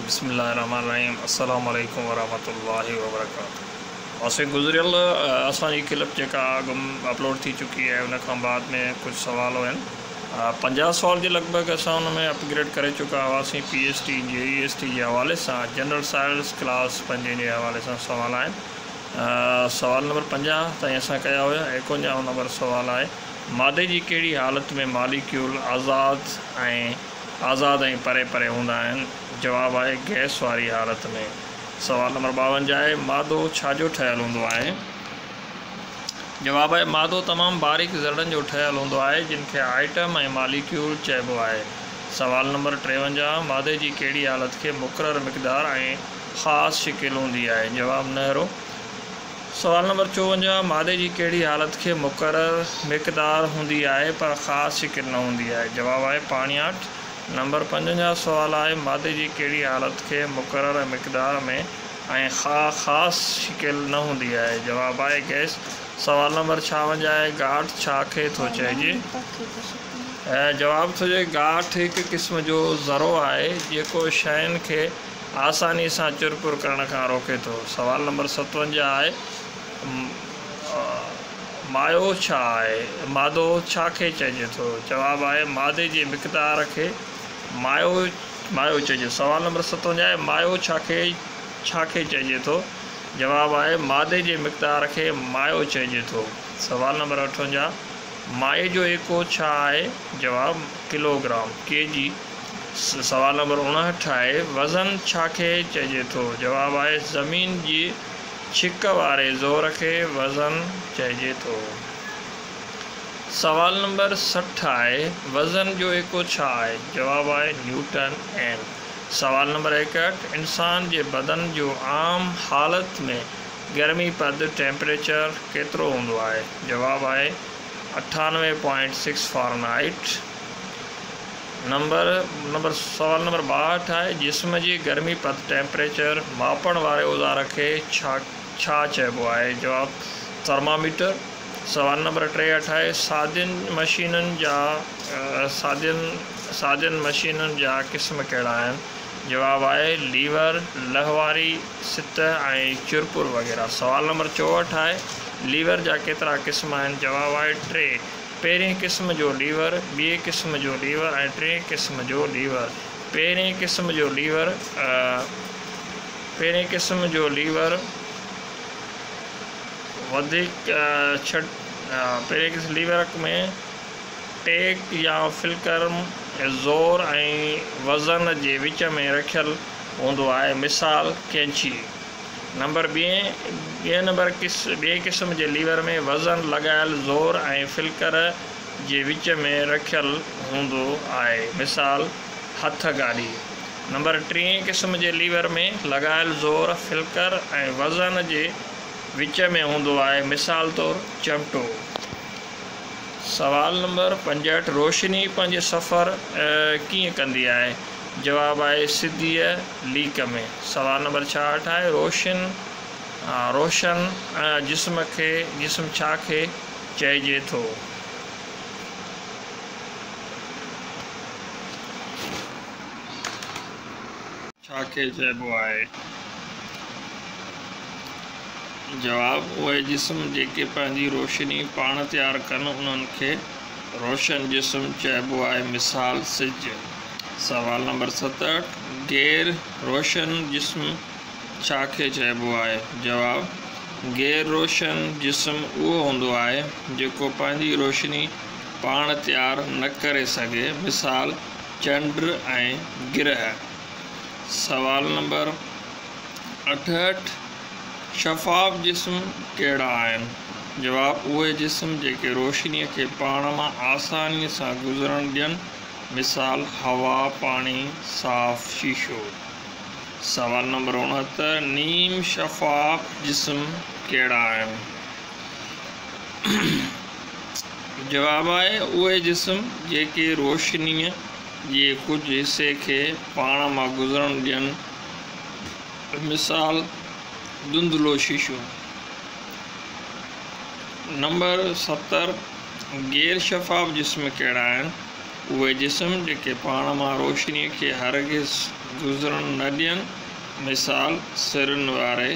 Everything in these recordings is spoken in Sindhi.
بسم الله الرحمن الرحيم السلام عليڪم ورحمة الله وبرڪاته اسين گذريل اسان جي ڪلپ جيڪا اڳ اپلوڊ ٿي چڪي آهي ان کان بعد ۾ ڪجهه سوال هين 50 سوال جي لڳ ڀڳ اسان ان ۾ اپگريڊ ڪري چڪا هئاسين پي ايس ٽي جي اي ايس ٽي جي حوالي سان جنرل سائنس ڪلاس پنجين جي حوالي سان سوال آهن سوال نمبر 50 تائين اسان ڪيا هيا 51 نمبر سوال آهي مادي جي ڪهڙي حالت ۾ ماليڪيول آزاد ۽ آزاد ۽ پري پري هوندا آهن؟ جواب آهي گئس واري حالت ۾. سوال نمبر 52 آهي مادو ڇا جو ٺهيل هوندو آهي؟ جواب آهي مادو تمام باريڪ ذرڙن جو ٺهيل هوندو آهي جن کي آئٽم ۽ ماليڪيول چئبو آهي. سوال نمبر 53 مادي جي ڪهڙي حالت کي مقرر مقدار ۽ خاص شڪل هوندي آهي؟ جواب نهرو. سوال نمبر 54 مادي جي ڪهڙي حالت کي مقرر مقدار هوندي آهي پر خاص شڪل نه هوندي آهي؟ جواب آهي پاڻياٺ. نمبر 55 سوال آهي مادي جي ڪهڙي حالت کي مقرر مقدار ۾ ۽ خاص شڪل نه هوندي آهي؟ جواب آهي گئس. سوال نمبر 56 آهي گاٺ ڇا کي ٿو چئجي؟ جواب ٿو چئي گاٺ هڪ قسم جو ذرو آهي جيڪو شين کي آساني سان چرپر ڪرڻ کان روڪي ٿو. سوال نمبر 57 آهي مايو ڇا آهي؟ مادو ڇا کي چئجي ٿو؟ جواب آهي مادي جي مقدار کي مايو مايو چئجي. سوال نمبر 57 آهي مايو ڇا کي ڇا کي چئجي ٿو؟ جواب آهي مادي جي مقدار کي مايو چئجي ٿو. سوال نمبر 58 مايي جو ايڪو ڇا آهي؟ جواب ڪلوگرام، ڪي جي. سوال نمبر 59 آهي وزن ڇا کي چئجي ٿو؟ جواب آهي زمين جي ڇڪ واري زور کي وزن چئجي ٿو. سوال نمبر 60 آهي وزن جو ايڪو ڇا آهي؟ جواب آهي نيوٽن اين. سوال نمبر 61 انسان جي بدن جو عام حالت ۾ گرمي پد، ٽيمپريچر، ڪيترو هوندو آهي؟ جواب آهي 98.6 فارنهائيٽ. نمبر نمبر سوال نمبر 62 آهي جسم جي گرمي پد، ٽيمپريچر، ماپڻ واري اوزار کي ڇا ڇا چئبو آهي؟ جواب ٿرماميٽر. سوال نمبر 63 آهي سادين مشينن جا سادين سادين مشينن جا قسم ڪهڙا آهن؟ جواب آهي ليور، لهواري سطح ۽ چرپر وغيره. سوال نمبر 64 آهي ليور جا ڪيترا قسم آهن؟ جواب آهي 3. پهرين قسم جو ليور، ٻئي قسم جو ليور ۽ ٽئين قسم جو ليور. پهرين قسم جو ليور پهرين قسم جو ليور وڌيڪ ڇٽ پهرين قسم ليور ۾ ٽيڪ يا فلڪرم زور ۽ وزن جي وچ ۾ رکيل هوندو آهي مثال قينچي. نمبر ٻئين ٻئين نمبر ٻئي قسم جي ليور ۾ وزن لڳايل زور ۽ فلڪر جي وچ ۾ رکيل هوندو آهي مثال هٿ گاڏي. نمبر ٽئين قسم جي ليور ۾ لڳايل زور فلڪر ۽ وزن جي وچ ۾ هوندو آهي مثال طور چمٽو. سوال نمبر 65 روشني پنهنجي سفر ڪيئن ڪندي آهي؟ جواب آهي سڌيء ليڪ ۾. سوال نمبر 66 آهي روشن روشن جسم کي جسم ڇا کي چئجي ٿو؟ ڇا کي چئبو آهي؟ جواب، اهي جسم جيڪي پنهنجي روشني پاڻ تيار ڪن انهن کي روشن جسم چئبو آهي مثال سج. سوال نمبر 67 غير روشن جسم ڇا کي چئبو آهي؟ جواب، غير روشن جسم اهو هوندو آهي جيڪو پنهنجي روشني پاڻ تيار نه ڪري سگهي مثال چنڊ ۽ گرهه. سوال نمبر 68 شفاف جسم ڪهڙا آهن؟ جواب، اهي جسم جيڪي روشنيء کي پاڻ مان آسانيء سان گذرڻ ڏين مثال هوا، پاڻي، صاف شيشو. سوال نمبر 69 نيم شفاف جسم ڪهڙا آهن؟ جواب آهي اهي جسم جيڪي روشنيء جي ڪجهه حصي کي پاڻ مان گذرڻ ڏين مثال ڌنڌلو شيشو. نمبر 70 غير شفاف جسم ڪهڙا آهن؟ اهي جسم جيڪي پاڻ مان روشنيء کي هرگز گذرڻ نه ڏين، مثال، سرن واري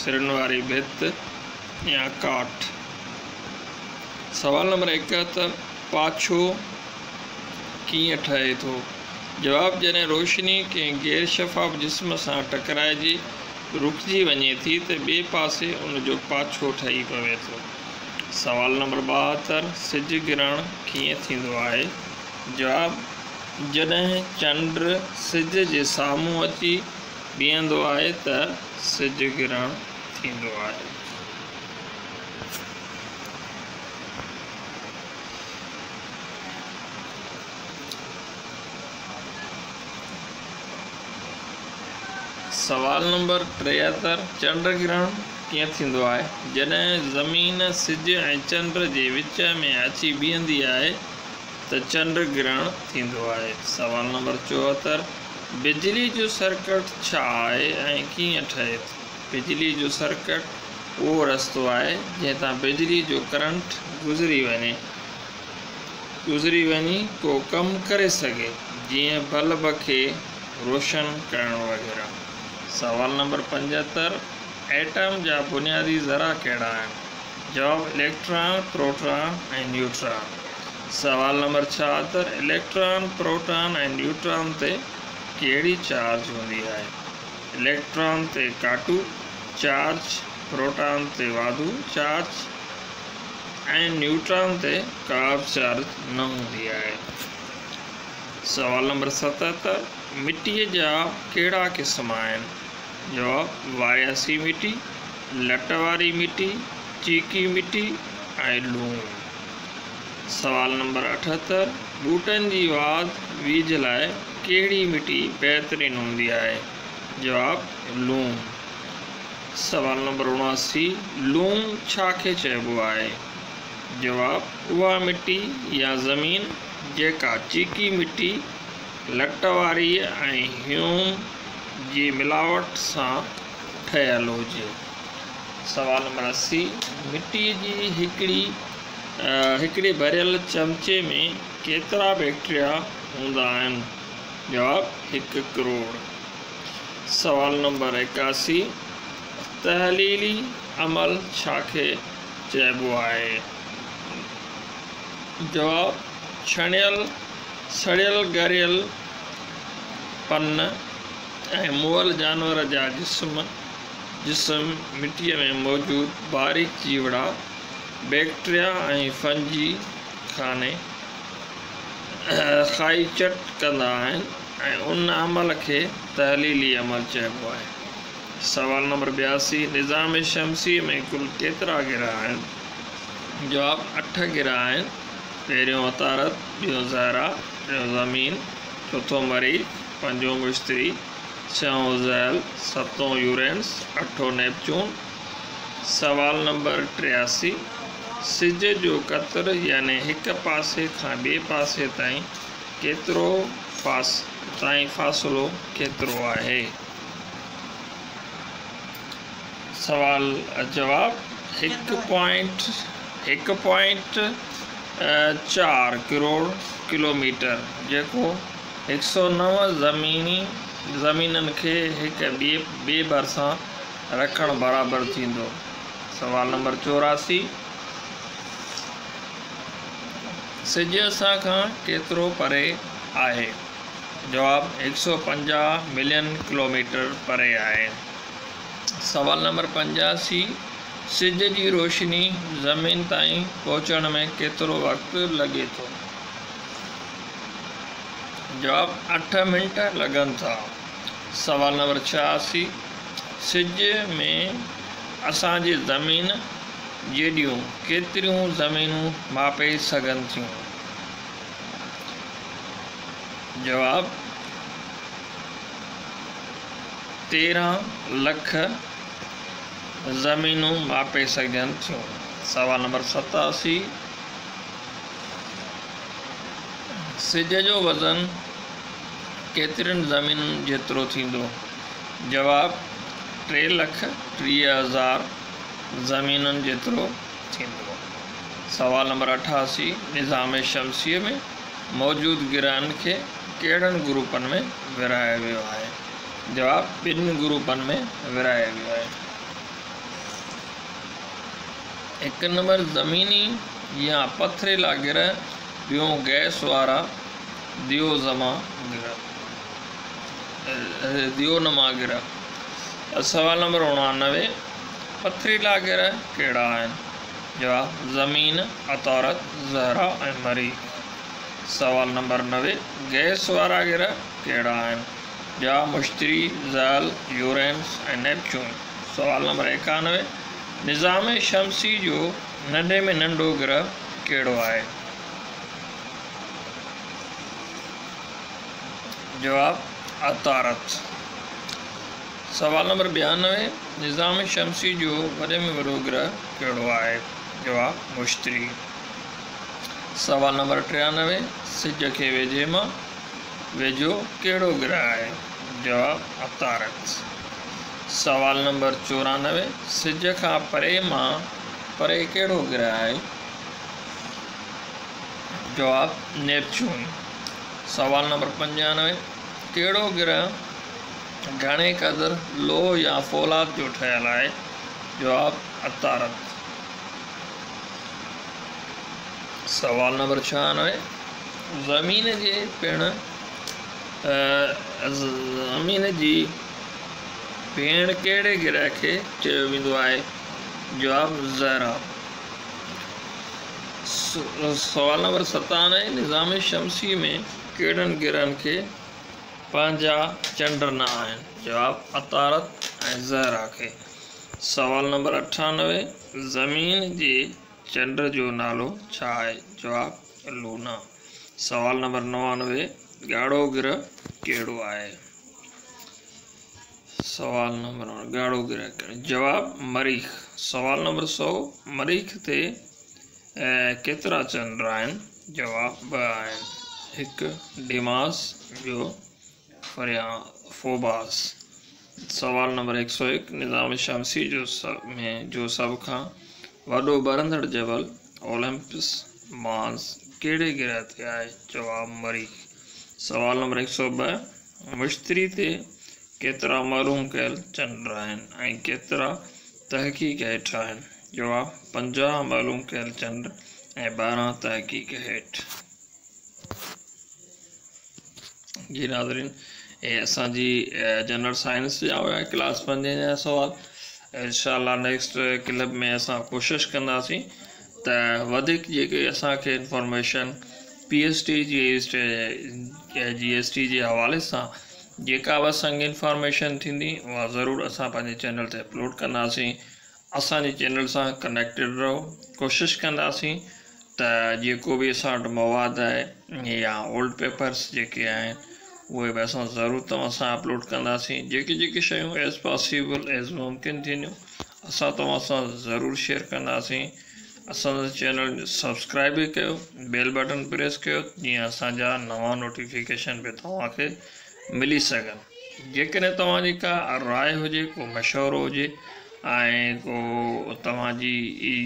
سرن واري ڀت يا ڪاٺ. سوال نمبر 71، پاڇو ڪيئن ٺهي ٿو؟ جواب، جڏهن روشني ڪنهن غير شفاف جسم سان ٽڪرائجي رڪجي وڃي ٿي ته ٻئي پاسي ان جو پاڇو ٺهي پوي ٿو. سوال نمبر 72، سج گرهڻ ڪيئن ٿيندو آهي؟ جواب، جڏهن چنڊ سج جي سامهون اچي بيهندو آهي ته سج گرهڻ ٿيندو آهي. سوال نمبر 73، چنڊ گرهڻ ڪيئن ٿيندو آهي؟ جڏهن زمين سج ۽ چنڊ جي وچ ۾ اچي بيهندي آهي ته چنڊ گرهڻ ٿيندو آهي. سوال نمبر 74، بجلي جو سرڪٽ ڇا آهي ۽ ڪيئن ٺهي ٿو؟ بجلي جو سرڪٽ اهو رستو آهي جنهن تان بجلي جو ڪرنٽ گذري وڃي گذري وڃي ڪو ڪم ڪري سگهي، جيئن بلب کي روشن ڪرڻ وغيره. سوال نمبر 75، ايٽم جا بنيادي ذرا ڪهڙا آهن؟ جواب، اليڪٽران، پروٽان ۽ نيوٽران. سوال نمبر 76، اليڪٽران، پروٽان ۽ نيوٽران تي ڪهڙي چارج هوندي آهي؟ اليڪٽران تي ڪاٽو چارج، پروٽان تي واڌو چارج ۽ نيوٽران تي ڪا به چارج نه هوندي آهي. سوال نمبر 77، مٽيء جا ڪهڙا قسم آهن؟ جواب، وارياسي مٽي، لٽ واري مٽي، چيڪي مٽي ۽ لوڻ. سوال نمبر 78، ٻوٽن جي واڌ ويجهه لاء ڪهڙي مٽي بهترين هوندي آهي؟ جواب، لوم. سوال نمبر 79، لوم ڇا کي چئبو آهي؟ جواب، اها مٽي يا زمين جيڪا چيڪي مٽي، لٽ واريء ۽ هيوم جي ملاوٽ سان ٺهيل هجي. سوال نمبر 80، مٽيء جي هڪڙي هڪڙي ڀريل چمچي ۾ ڪيترا بيڪٽريا هوندا آهن؟ جواب، هڪ ڪروڙ. سوال نمبر 81، تحليلي عمل ڇا کي چئبو آهي؟ جواب، ڇڻيل، سڙيل ڳريل پن ۽ مئل جانور جا جسم، جسم، مٽيء ۾ موجود باريڪ جيوڙا، بيڪٽريا ۽ فنجي کاني کائي چٽ ڪندا آهن ۽ ان عمل کي تحليلي عمل چئبو آهي. سوال نمبر 82، نظام شمسيء ۾ ڪل ڪيترا گرهه آهن؟ جواب، اٺ گرهه آهن، پهريون عطارد، ٻيو زهره، ٽيون زمين، چوٿون مريخ، پنجون مشتري، ڇهون زحل، ستون يورينس، اٺون نيپچون. سوال نمبر 83، سج جو قطر يعني هڪ پاسي کان ٻئي پاسي تائين ڪيترو تائين فاصلو ڪيترو آهي؟ سوال جواب، هڪ پوائنٽ هڪ پوائنٽ چار ڪروڙ ڪلوميٽر جيڪو هڪ سؤ نو زميني زمينن کي هڪ ٻئي ٻئي ڀرسان رکڻ برابر ٿيندو. سوال نمبر 84، سج اسان کان ڪيترو پري آهي؟ جواب، هڪ سؤ پنجاهه ملين ڪلوميٽر پري آهي. سوال نمبر 85، سج جي روشني زمين تائين پهچڻ ۾ ڪيترو وقت لڳي ٿو؟ جواب، اٺ منٽ لڳن ٿا. سوال نمبر 86، سج ۾ اسان جي زمين جيڏيون ڪيتريون زمينون ماپي سگهن ٿيون؟ جواب، 13 لک زمينون ماپي سگهجن ٿيون. سوال نمبر 87، سج جو وزن ڪيترين زمينن جيترو ٿيندو؟ جواب، 3,30,000 زمينن جيترو ٿيندو. سوال نمبر 88، نظام شمسيء ۾ موجود گرهن کي ڪهڙن گروپن ۾ ورهايو ويو آهي؟ جواب، ٻن گروپن ۾ ورهايو ويو آهي. هڪ نمبر زميني يا پٿريلا گرهه، ٻيون گئس وارا ديو نما گرهه. سوال نمبر 89، پٿريلا گرهه ڪهڙا آهن؟ جواب، زمين، عطارد، زهره ۽ مريخ. سوال نمبر 90، گئس وارا گرهه ڪهڙا آهن؟ جواب، مشتري، زحل، يورينس ۽ نيپچون. سوال نمبر 91، نظام شمسي جو ننڍي ۾ ننڍو گرهه ڪهڙو آهي؟ جواب، عطارد. سوال نمبر 92، نظام شمسي جو وڏي ۾ وڏو گرهه ڪهڙو آهي؟ جواب، مشتري. سوال نمبر 93، سج کي ويجهي مان ويجهو ڪهڙو گرهه آهي؟ جواب، عطارد. سوال نمبر 94، سج کان پري مان پري ڪهڙو گرهه آهي؟ جواب، نيپچون. سوال نمبر 95، ڪهڙو گرهه گهڻي قدر لوهه يا فولاد جو ٺهيل آهي؟ جواب، عطارد. سوال نمبر 96، زمين جي پڻ زمين جي ڀيڻ ڪهڙي گرهه کي چيو ويندو آهي؟ جواب، زهره. سوال نمبر 97، نظام شمسي ۾ ڪهڙن گرهن کي پنهنجا چنڊ نه آهن؟ جواب، عطارد ۽ زهره کي. سوال نمبر 98، زمين جي چنڊ جو نالو ڇا آهي؟ جواب، لونا. سوال نمبر 99، ڳاڙهو گرهه ڪهڙو آهي؟ سوال نمبر ڳاڙهو گرهه ڪهڙو؟ جواب، مريخ. سوال نمبر 100، مريخ تي ڪيترا چنڊ آهن؟ جواب، 2 آهن، هڪ ڊيماس ٻيو فوباس. سوال نمبر 101، نظام شمسي ۾ جو سڀ کان وڏو ٻرندڙ جبل اولمپس مانس ڪهڙي گرهه تي آهي؟ جواب، مريخ. سوال نمبر 102، مشتري تي ڪيترا معلوم ڪيل چنڊ آهن ۽ ڪيترا تحقيق هيٺ آهن؟ جواب، 50 معلوم ڪيل چنڊ ۽ 12 تحقيق هيٺ. جي ناظرين، هي اسان جي جنرل سائنس جا هيا ڪلاس 5 جا سوال. انشاء الله نيڪسٽ ڪلپ ۾ اسان ڪوشش ڪنداسين ته وڌيڪ جيڪي اسان کي انفارميشن پي ايس ٽي جي جي ايس ٽي جي حوالي سان جيڪا به اسان کي انفارميشن ٿيندي، اها ضرور اسان پنهنجي چينل تي اپلوڊ ڪنداسين. اسان جي چينل سان ڪنيڪٽيڊ رهو. ڪوشش ڪنداسين ته جيڪو به اسان وٽ مواد آهي يا اولڊ پيپرس جيڪي آهن، اهي به اسان ضرور توهان سان اپلوڊ ڪنداسين. جيڪي جيڪي شيون ايز پاسيبل، ايز ممڪن ٿينديون، اسان توهان سان ضرور شيئر ڪنداسين. اسان جو چينل سبسڪرائب به ڪيو، بيل بٽن پريس ڪيو، جيئن اسان جا نوان نوٽيفڪيشن به توهان کي ملي سگهن. جيڪڏهن توهان جي ڪا راءِ هجي، ڪو مشورو هجي ۽ ڪو توهان جي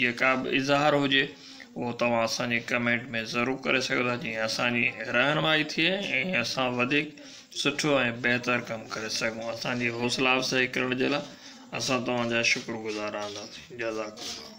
جيڪا به اظهار هجي، اهو توهان اسان جي ڪمينٽ ۾ ضرور ڪري سگهو ٿا، جيئن اسان جي رهنمائي ٿئي ۽ اسان وڌيڪ سٺو ۽ بهتر ڪم ڪري سگهون. اسان جي حوصلا افزائي ڪرڻ جي لاءِ اسان توهان جا شڪر گذار رهنداسين. جزاڪ الله.